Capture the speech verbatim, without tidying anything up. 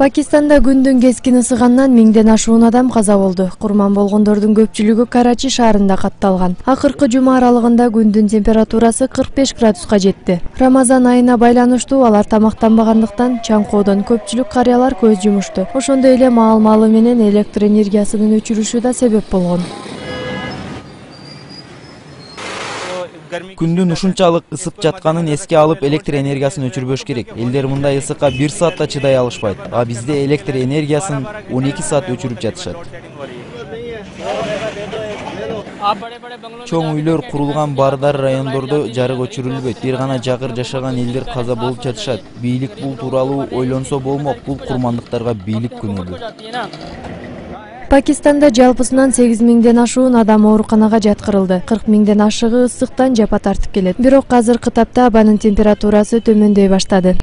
Пакистанда күндүн кескин ысыгандан миңден ашуун адам каза болду. Курман болгондордун көпчүлүгү Карачи шаарында катталган. Акыркы жума аралыгында күндүн температурасы кырк беш градуска жетти. Рамазан айына байланыштуу алар тамактанбагандыктан чаңкоодон көпчүлүк карыялар көз жумушту. Ошондой эле маал-маалы менен электр энергиясынын өчүрүшү да себеп болгон. Күндүн ушунчалык ысып жатканын эске алып, электр энергиясын өчүрбөш керек. Элдер мындай ысыкка бир саатта чыдай алышпайт. А бизде электр энергиясын он эки саат өчүрүп жатышат. Чоң үйлөр курулган баардар райондордо жарык өчүрүлбөйт. Бир гана жакыр жашаган элдер каза болуп жатышат. Бийлик бул тууралуу ойлонсо болмок. Бул курмандыктарга бийлик күнөөлүү. Пакистанда жалпысынан сегиз миңден ашуун адам ооруканага жаткырылды. кырк миңден ашыгы ысыктан жапа тартып келет. Бирок азыркы тапта абанын температурасы төмөндөй баштады.